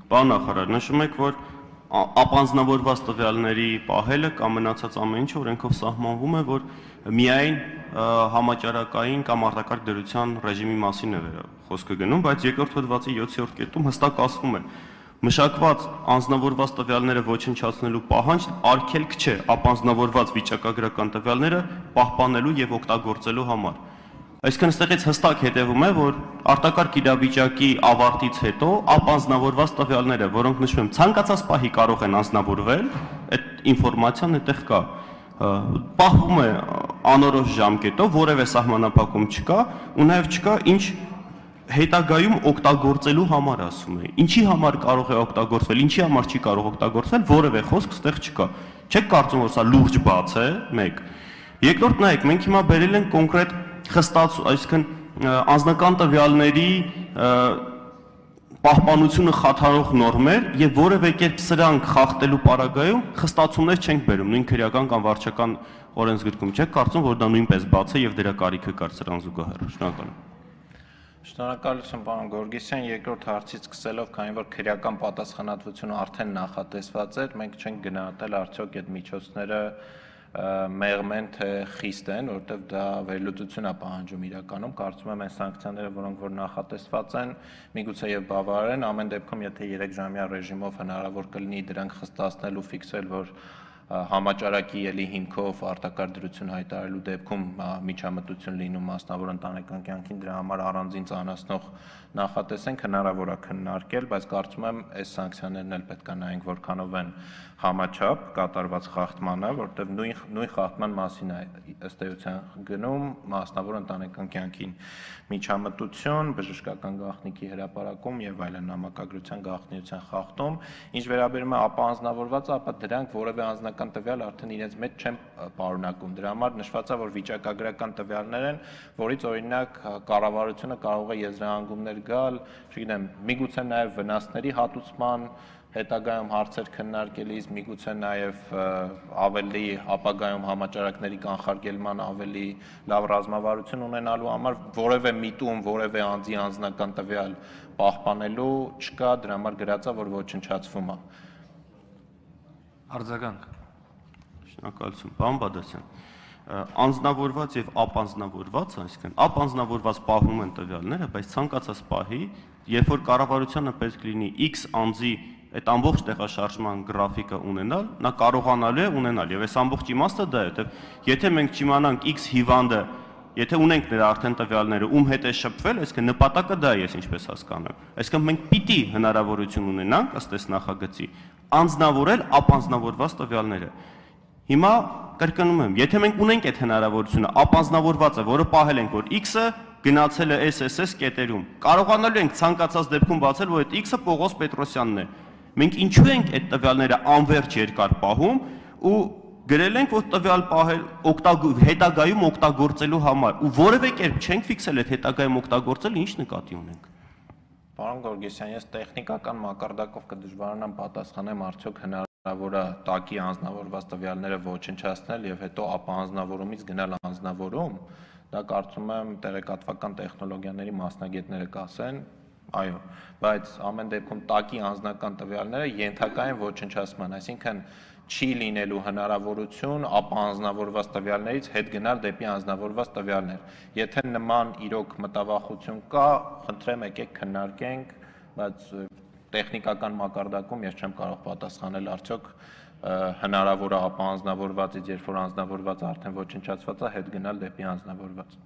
Պարոն նախարար, նշում եք, որ ապանձնավորված տվյալների պահելը կամ մնացած ամեն ինչը օրենքով սահմանվում է, որ միայն համաճարակային կամ արտակարգ դրության ռեժիմի մասին է խոսքը գնում, բայց երկրորդ հոդվածի 7-րդ կետում հստակ ասվում է. մշակված անձնավորված տվյալները ոչնչացնելու պահանջ արգելք չէ ապանձնավորված վիճակագրական տվյալները պահպանելու եւ օգտագործելու համար։ Այսինքն այստեղից հստակ հետևում է, որ արտակարգ իրավիճակի ավարտից հետո ապանձնավորված տվյալները, որոնք նշվում են ցանկացած պահի կարող են անձնավորվել, այդ ինֆորմացիան այդտեղ կա, պահվում է անորոշ ժամկետով, որևէ սահմանափակում չկա, ու նաեւ չկա ինչ հետագայում օգտագործելու համար ասում է։ Ինչի համար կարող է օգտագործվել, ինչի համար չի կարող օգտագործվել, որևէ խոսք այդտեղ չկա։ Չեք կարծում, որ սա լուրջ բաց է, 1։ Երկրորդ նայեք, մենք հիմա բերել ենք կոնկրետ այսինքն անձնական տվյալների պահպանությունը խաթարող նորմեր եւ որևէ կերպ սրանք խախտելու պարագայում խստացումներ չենք բերում, նույն քրեական կամ վարչական օրենսգրքում չեք կարծում, որ դա նույնպես բաց է եւ դրա կարիքը կար սրան զուգահեռ։ Շնորհակալ եմ։ Շնորհակալություն, պարոն Գորգիսյան, երկրորդ հարցից սկսելով, քանի որ քրեական պատասխանատվությունը արդեն նախատեսված էր, մենք չենք գնահատել արդյոք այդ միջոցները մեղմ են թե խիստ են, որովհետև դա վերլուծություն է պահանջում իրականում, կարծում եմ այն սանկցիաները, որոնք որ նախատեսված են, միգուցե եւ բավարար են, ամեն դեպքում եթե 3 ժամյա ռեժիմով հնարավոր կլինի դրանք խստացնել ու ֆիքսել, որ համաճարակի ելի հիմքով արտակարգ դրություն հայտարարելու դեպքում միջամտություն լինում մասնավոր ընտանեկան կյանքին, դրա համար առանձին ծանրացնող նախատեսենք, հնարավոր է քննարկել, բայց կարծում եմ այս սանկցիաներն էլ պետք է նայենք որքանով են համաչափ կատարված խախտմանը, որտեղ նույն խախտման մասին է ըստ էության գնում, մասնավոր ընտանեկան կյանքին միջամտություն, բժշկական գաղտնիքի հրապարակում եւ այլն նամակագրության գաղտնիության խախտում, ինչ վերաբերում է ապանձնավորվածը, ապա դրանք որևէ անձնական տվյալ արդեն իրենց մեջ չեն պարունակում։ Դրա համար նշված է, որ վիճակագրական տվյալներ են, որից օրինակ կառավարությունը կարող է եզրահանգումներ գալ, չգիտեմ, միգուցե նաեւ վնասների հատուցման հետագայում հարցեր քննարկելիս, միգուցե նաև ավելի ապագայում համաճարակների կանխարգելման ավելի լավ ռազմավարություն ունենալու համար որևէ միտում, որևէ անձի անձնական տվյալ պահպանելու չկա, դրա համար գրած է, որ ոչնչացվում է։ Արձագանք։ Շնորհակալություն, պարոն Բադասյան։ Անձնավորված եւ ապանձնավորված, այսինքն ապանձնավորված պահվում են տվյալները, բայց ցանկացած պահի, երբ որ կառավարությանը պետք լինի X անձի այդ ամբողջ տեղաշարժման գրաֆիկը ունենալ, նա կարողանալու է ունենալ եւ այս ամբողջ իմաստը դա է, որտեւ եթե մենք չիմանանք X հիվանդը, եթե ունենք նրա արդեն տվյալները, ում հետ է շփվել, այսինքն նպատակը դա է, ես ինչպես հասկանում եմ։ Այսինքն մենք պիտի հնարավորություն ունենանք ըստ այս նախագծի անձնավորել ապանձնավորված տվյալները։ Հիմա կրկնում եմ, եթե մենք ունենք այդ հնարավորությունը, ապանձնավորվածը, որը պահել ենք, որ X-ը գնացել է SSS կետերում, կարողանալու ենք ցանկացած դեպքում բացել, որ այդ X-ը Պողոս Պետրոսյանն է։ Մենք ինչու ենք այդ տվյալները անverջ երկար պահում ու գրել ենք, որ տվյալ պահել հետագայում օգտագործելու համար ու որևէ կերպ չենք ֆիքսել այդ հետագայում օգտագործել, ինչ նկատի ունենք։ Պարոն Գորգիսյան, ես տեխնիկական մակարդակով կդժվարանամ պատասխանեմ, արդյոք հնարավոր է տակի անձնավորված տվյալները ոչնչացնել եւ հետո ապանձնավորումից գնալ անձնավորում, դա կարծում եմ տեղեկատվական տեխնոլոգիաների մասնագետները կասեն, այո, բայց ամեն դեպքում տակի անձնական տվյալները ենթակա են ոչնչացման, այսինքն չի լինելու հնարավորություն ապանձնավորված տվյալներից հետ գնալ դեպի անձնավորված տվյալներ։ Եթե նման իրոք մտավախություն կա, խնդրեմ եկեք քննարկենք, բայց տեխնիկական մակարդակում ես չեմ կարող պատասխանել արդյոք հնարավոր է ապանձնավորվածից, երբ որ անձնավորվածը արդեն ոչնչացված է, հետ գնալ դեպի անձնավորված։